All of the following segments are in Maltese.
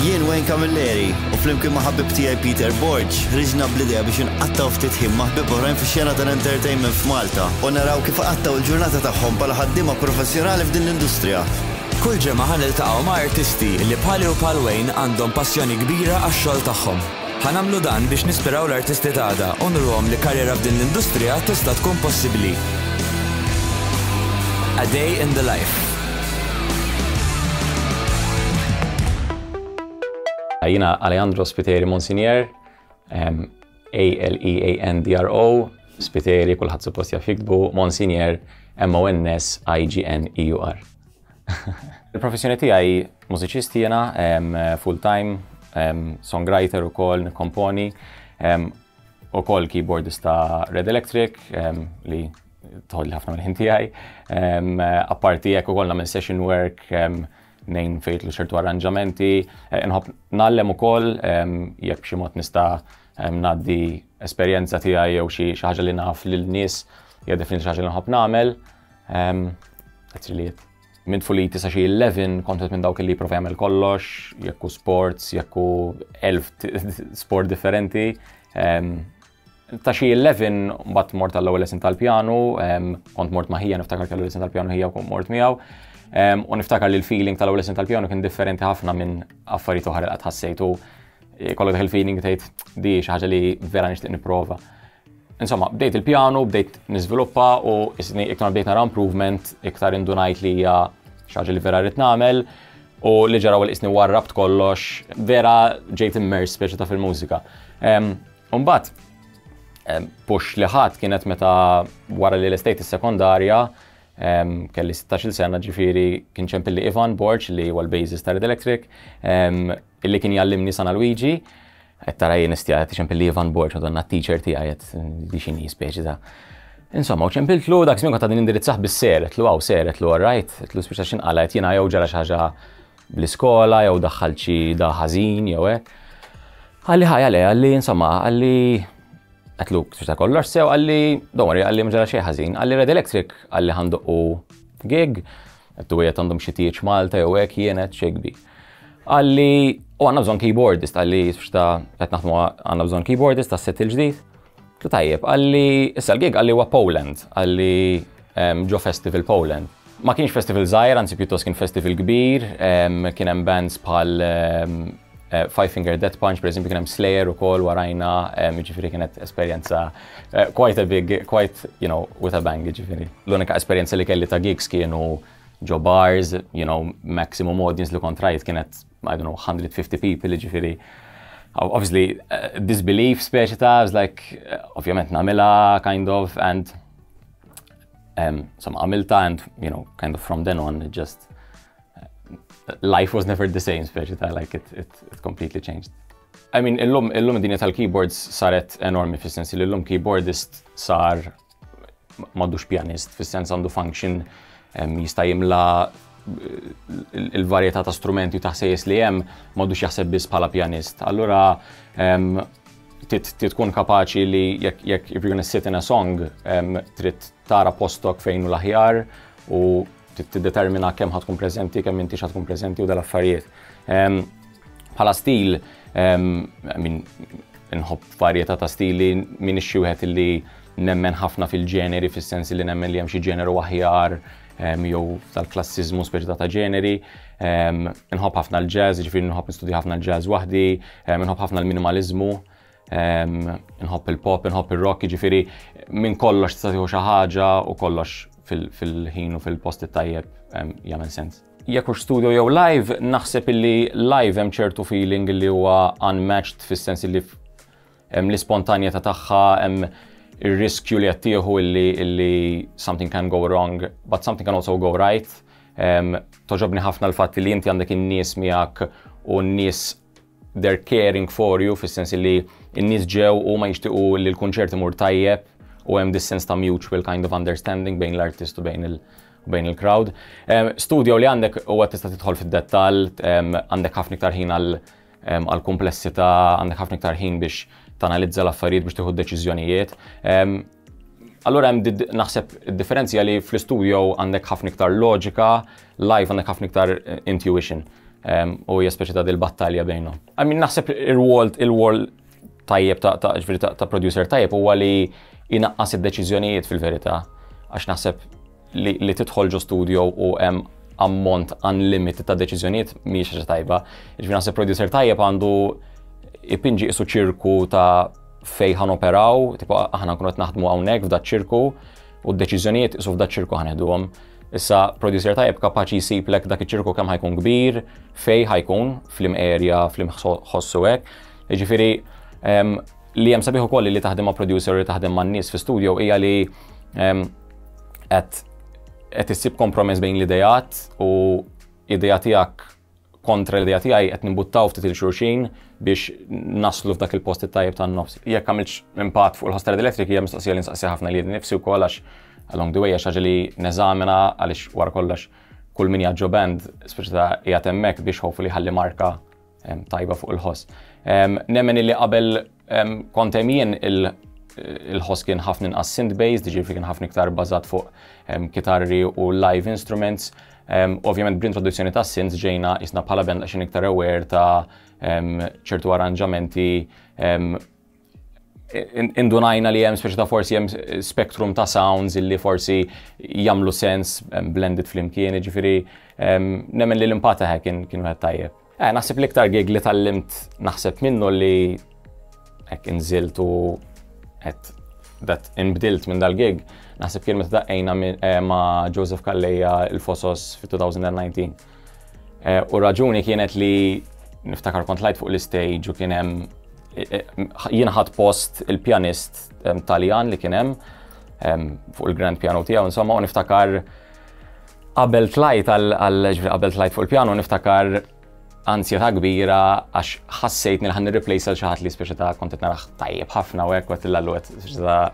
Jien Wayne Camilleri u flimkien ma' ħabib tiegħi Peter Borg ħriġna bl-idea biex inqattgħu ftit ħin ma' ħbieb oħrajn fix-xena tal-entertainment f'Malta u naraw kif iqattgħu l-ġurnata tagħhom bħala ħaddiema professjonali f'din l-industrija. Kull ġimgħa ħa niltaqgħu ma' artisti li bħali u bħal Wayne għandhom passjoni kbira għax-xogħol tagħhom. Ħa nagħmlu dan biex nispiraw l-artisti t'għada u nuruhom li karriera f'din l-industrija tista' tkun possibbli. A Day in the Life. Jiena Alejandro Spiteri Monsignor, A-L-E-A-N-D-R-O, Spiteri kulħadd suppost jaf jiktbu, Monsignor, M-O-N-S-I-G-N-E-U-R. Il-professjoni tiegħi mużiċist jiena, full-time, songwriter ukoll, nikkomponi, ukoll keyboardist ta' Red Electric, li tħolli ħafna mill-ħin tiegħi. Apparti hekk ukoll nagħmel session work, nejn fejtlu ċertu arranġamenti, eh, nħobb nallem ukoll jekk b'xi mod nista' ngħaddi esperjenza tiegħi jew xi ħaġa li naf lil nies hija definitely xi ħaġa li nħobb nagħmel. That's really it. Minn tfuliti sa xi 11 kont minn dawk li jipprova jagħmel kollox, jekk hu sports, jekk hu elf sport differenti. Ta' xi 11 mbagħad mort għall-ewwel lesson tal-pjanu, kont mort ma' ħija niftakar kellu lesson tal-pjanu ħija u kont mort miegħu. U niftakar li l-feeling tal-ewwel lesson tal-pjanu kien differenti ħafna minn affarijiet oħra li qatt ħassejtu. Kollok dak il-feeling tgħid di xi ħaġa li vera nixtieq nipprova. Insomma, bdejt il-pjanu, bdejt niżviluppa u isni iktar bdejt nara improvement, iktar indunajt li hija xi ħaġa li vera rrid nagħmel u li ġara li isni warrabt kollox, vera ġejt immers speċi ta' fil-mużika. Umbagħad push li ħadd kienet meta wara li l-estate is-sekondarja kelli 16 sena ġifieri kien ċempilli Ivan Borg li huwa l-bassist ta' Red Electric illi kien jallimni San Luigi, qed tara jien istja qed iċempilli Ivan Borg, madonna t-teacher tiegħi qed di x'inhi speċi ta' Insomma, u ċempiltlu dak żmien kont għadni nindirizzah bis-ser, qedtlu hawn ser, qedtlu all right, qedtlu spiċċa x'inqala' qed jiena jew ġara xi ħaġa bl-iskola jew daħħalt xi da ħażin jew hekk. Qalli ħajja le, qalli insomma, qalli qedtlu spiċċa kollox sew, qalli don't worry, qalli ma ġara xejn ħażin, qalli Red Electric, qalli ħandoqqu gig, qedtu qiegħed għandhom xi tieġ Malta jew hekk jien qed xejn kbir. Qalli, u għandna bżonn keyboardist, qalli, xta qed naħdmu għandna bżonn keyboardist tas set il-ġdid. Tu tajjeb, qalli, issa l-gig qalli huwa Poland, qalli ġo festival Poland. Ma kienx festival żgħir, anzi pjuttost kien festival kbir, kien hemm bands bħal eh, Five Finger Death Punch, per eżempju, kien hemm Slayer ukoll warajna, jiġifieri kienet esperjenza eh, quite a big, quite, you know, with a bang, jiġifieri. L-unika esperjenza li kelli ta' gigs kienu ġo bars, you know, maximum audience li kont rajt kienet, I don't know, 150 people, ġifiri. Obviously, uh, disbelief speċi ta' I was like, uh, ovvjament namila, kind of, and um, some għamilta, and, you know, kind of from then on, it just, uh, life was never the same, speċi ta' like, it, it, it completely changed. I mean, illum, illum id-dinja tal-keyboards saret enormi fis-sens li illum keyboardist sar m'għadux pjanist, fis-sens għandu function jista' jimla il-varjetà ta' strumenti u ta' ħsejjes li hemm m'għadux jaħseb biss bħala pjanist. Allura trid tkun kapaċi li jekk if you're gonna sit in a song trid tara postok fejn hu l-aħjar u tiddetermina kemm ħa tkun preżenti, kemm intix ħa tkun preżenti u dal-affarijiet. Bħala stil, I mean, nħobb varjetà ta' stili minn xi wieħed li nemmen ħafna fil-ġeneri, fis-sens li nemmen li hemm xi ġeneru aħjar jew tal-klassiżmu speċi ta' ġeneri. Nħobb ħafna l-jazz, ġifieri nħobb nistudja ħafna l-jazz waħdi, nħobb ħafna l-minimaliżmu, nħobb il-pop, nħobb il-rock, ġifieri minn kollox tista' tieħu xi ħaġa u kollox fil-ħin u fil-post it-tajjeb jagħmel sens. Jekk hux studio jew live, naħseb illi live hemm ċertu feeling li huwa unmatched fis-sens illi hemm l-ispontanjetà tagħha, hemm ir-riskju li qed tieħu illi illi something can go wrong, but something can also go right. Toġobni ħafna l-fatt li inti għandek in-nies miegħek u n-nies they're caring for you fis-sens li n-nies ġew u ma jixtiequ li l-kunċert imur tajjeb u hemm this sense ta' mutual kind of understanding bejn l-artist u bejn il- bejn il-crowd. Studio li għandek huwa tista' tidħol fid-dettall, għandek ħafna iktar ħin għal komplessità, għandek ħafna iktar ħin biex tanalizza l-affarijiet biex tieħu deċiżjonijiet. Allura hemm naħseb id-differenzja li fl-istudio għandek ħafna iktar loġika, live għandek ħafna iktar eh, intuition. U hija speċi ta' dil-battalja bejnhom. I mean, naħseb il-rwol tajjeb ta' ġifieri ta' producer tajjeb huwa li jnaqqas id-deċiżjonijiet fil-verità. Għax naħseb li tidħol ġo studio u hemm ammont unlimited ta' deċiżjonijiet mhijiex ħaġa tajba. Ġifieri naħseb producer tajjeb għandu ipinġi qisu ċirku ta' fej ħa noperaw, tipo aħna nkunu qed naħdmu hawnhekk f'da ċirku u d-deċiżjonijiet qisu f'da ċirku ħa neħduhom. Issa producer tajjeb kapaċi jsiblek dak iċ-ċirku kemm ħa jkun kbir, fej ħa jkun, f'liema area, f'liema ħossu hekk. Jiġifieri li hemm sabiħ ukoll li taħdem ma' producer li taħdem ma' nies fi studio hija li qed issib kompromess bejn l-idejat u idea tiegħek kontra l-idea tiegħi, qed nimbuttaw ftit lil xulxin biex naslu f'dak il-post it-tajjeb tan-nofs. Jekk għamilx impatt fuq il-ħoss Electric hija mistoqsija li nsaqsi ħafna lili nnifsi wkoll, għax along the way għax ħaġa li neżamina, għaliex wara kollox kull min ġo band speċi ta' qiegħed hemmhekk biex hopefully ħalli marka tajba fuq il-ħoss. Nemmen li qabel kont hemm jien il-ħoss kien ħafna inqas synth-based, ġifieri kien ħafna iktar bażat fuq kitarri u live instruments. Ovvjament bl-introduzzjoni ta' synths ġejna isna bħala band għaxin iktar aware ta' ċertu arranġamenti, indunajna li hemm speċi ta' forsi hemm spectrum ta' sounds illi forsi jagħmlu sens blended flimkien, ġifieri nemmen li l-impatt kien wieħed tajjeb. Naħseb l-iktar gig li tgħallimt naħseb minnu li hekk inżilt u qed dat inbdilt minn dal-gig, naħseb kien meta daqqejna ma' Joseph Calleja il-Fosos fi 2019. U raġuni kienet li niftakar kont tlajt fuq l-stage u kien hemm jien ħadt post il-pjanist Taljan li kien hemm fuq il-grand piano tiegħu insomma, u niftakar qabel tlajt għal qabel tlajt fuq il-piano niftakar ansjetà kbira għax ħassejt li ħa nirreplace għal xi ħadd li speċi ta' kont qed narah tajjeb ħafna u hekk u għedt għedt speċi ta'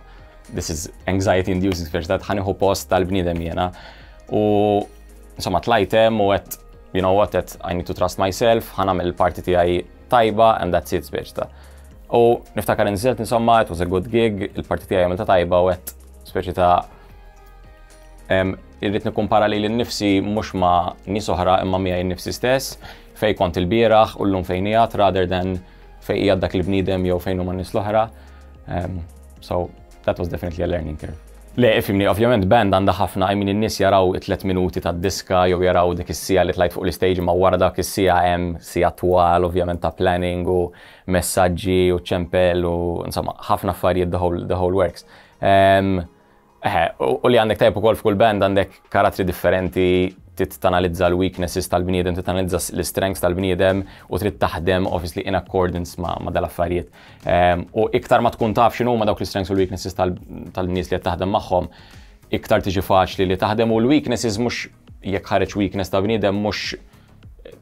this is anxiety inducing, speċi ta' ħa nieħu post tal-bniedem jiena. U insomma tlajt hemm u għedt, "You know what," għedt, "I need to trust myself, ħa nagħmel il-parti tiegħi tajba and that's it," speċi ta'. U niftakar inżilt insomma, it was a good gig, il-parti tiegħi għamilta tajba u għedt speċi ta' irrid nikkumpara lili nnifsi mhux ma' nies oħra imma miegħi nnifsi stess, fej kont il-bieraħ u llum fejn qiegħed rather than fejn qiegħed dak il-bniedem jew fejn huma nies l-oħra. So that was definitely a learning curve. Le, ifhimni, ovvjament band għandha ħafna, I mean, in-nies jaraw it-3 minuti tad-diska jew jaraw dik is-siegħa li tlajt fuq l-istage, ma wara dak is-siegħa hemm siegħa twal ovvjament ta' planning u messaġġi u ċempel u insomma ħafna affarijiet, the whole works. U li għandek tajb ukoll f'kull band għandek karattri differenti, trid tanalizza l-weaknesses tal-bniedem, trid tanalizza l-strengths tal-bniedem u trid taħdem obviously in accordance ma dal-affarijiet. U iktar ma tkun taf x'inhu ma dawk l-strengths u l-weaknesses tal-nies li qed taħdem magħhom, iktar tiġi faċli li taħdem u l-weaknesses mhux jekk ħareġ weakness ta' bniedem mhux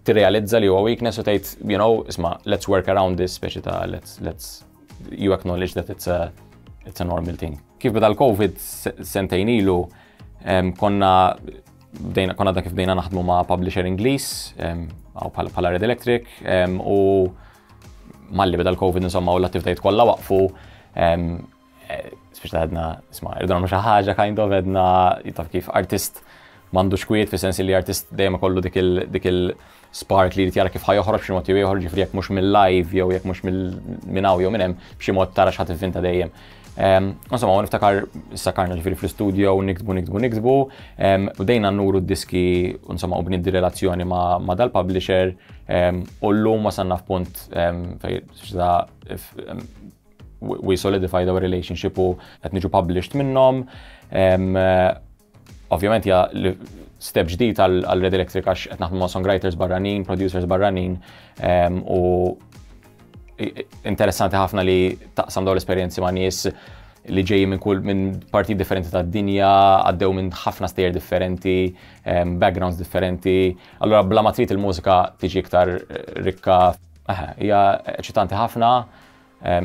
tirrealizza li huwa weakness u tgħid, "Isma', let's work around this," speċi ta' let's you acknowledge that it's a normal thing. Kif beda l-Covid sentejn ilu, konna bdejna konna dak kif bdejna naħdmu ma' publisher Ingliż, għaw bħala Red Electric, u malli beda l-Covid insomma u l-attivitajiet kollha waqfu, speċi ta' għedna, isma', irridu nagħmlu xi ħaġa kind of, għedna taf kif artist m'għandux kwiet, fi sens li artist dejjem ikollu dik il spark li jrid jara kif ħa joħroġ b'xi mod jew ieħor, ġifieri jekk mhux mill-live jew jekk mhux minn hawn jew minn hemm, b'xi mod tara x'ħa tivvinta dejjem. Insomma, u niftakar sakarna ġifieri fl-studio, niktbu, niktbu, niktbu, u bdejna nuru d-diski, insomma, u bniddi relazzjoni ma dal-publisher, u llum wasalna f'punt fej we solidified our relationship u qed niġu published minnhom. Ovvjament ja step ġdid għal Red Electric għax qed naħdmu ma' songwriters barranin, producers barranin, u interessanti ħafna li taqsam dawn l-esperjenzi ma' nies li ġej minn parti differenti tad-dinja, għaddew minn ħafna stejjer differenti, backgrounds differenti. Allura bla ma trid il-mużika tiġi iktar rikka. Hija eċitanti ħafna,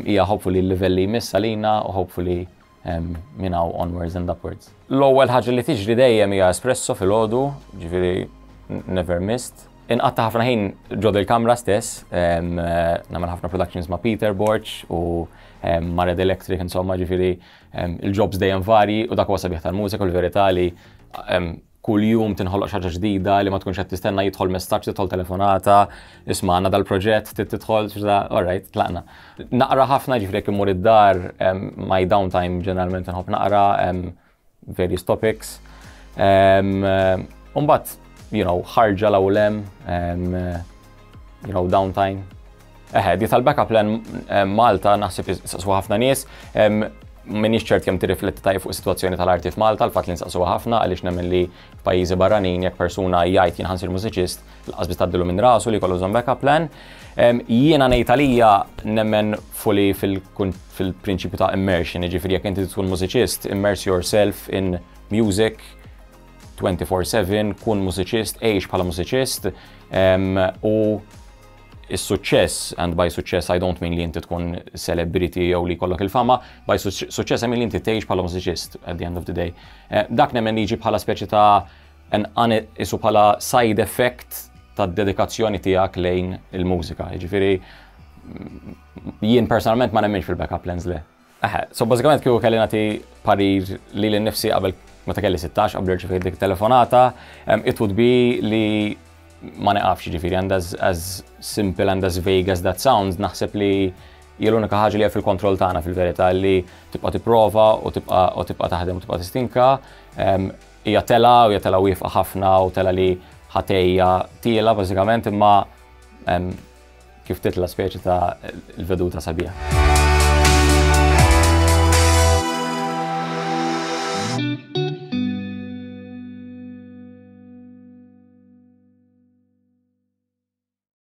hija hopefully l-livell li jmiss għalina u hopefully minn hawn onwards and upwards. L-ewwel ħaġa li tiġri dejjem hija espresso filgħodu, ġifieri never missed. Inqatta' ħafna ħin ġo il-kamra stess, nagħmel ħafna productions ma' Peter Borg u ma' Red Electric, insomma, ġifieri il-jobs dejjem vari u dak huwa sabiħ tal-mużika u l-verità li Kull jum tinħoloq xi ħaġa ġdida li ma tkunx qed tistenna, jidħol messaġġ, tidħol telefonata, isma' għandna dal-proġett, trid tidħol, all right, tlaqna. Naqra ħafna, ġifieri jekk immur id-dar, my downtime ġeneralment nħobb naqra various topics. Umbagħad, ħarġa l-awlem, downtime. Eħe, di tal-backup plan Malta naħseb saqsu ħafna nies. Minix ċert kemm tirrifletti tajjeb fuq is-sitwazzjoni tal-arti f'Malta, l-fatt li nsaqsuha ħafna, għaliex nemmen li f'pajjiżi barranin jekk persuna jgħid jien ħa nsir mużiċist, lanqas biss tgħaddilu minn rasu li jkollu bżonn backup plan. Jiena ngħid għalija nemmen fully fil-prinċipju ta' immersion, jiġifieri jekk inti tkun mużiċist, immerse yourself in music 24/7, kun mużiċist, għix bħala mużiċist u is-suċċess, and by success I don't mean li inti tkun celebrity jew li jkollok il-fama, by success I mean li inti tgħix bħala mużiċist at the end of the day. Dak nemmen liġi bħala speċi ta' isu bħala side effect ta' dedikazzjoni tiegħek lejn il-mużika. Jiġifieri jien personalment ma nemminx fil-backup plans, le. Eħe, so bażikament kieku kelli nagħti parir li lil nifsi qabel meta kelli 16, qabel irċevejt dik telefonata, it would be li ma neqafx, ġifieri, and as simple and as vague as that sounds, naħseb li hija l-unika ħaġa li hija fil-kontroll tagħna fil-verità, li tibqa' tipprova u tibqa' taħdem u tibqa' tistinka. Hija tela u hija tela wieqfa ħafna u tela li ħa tgħejja tiela' bażikament, imma kif titla' speċi ta' il-veduta sabiħa.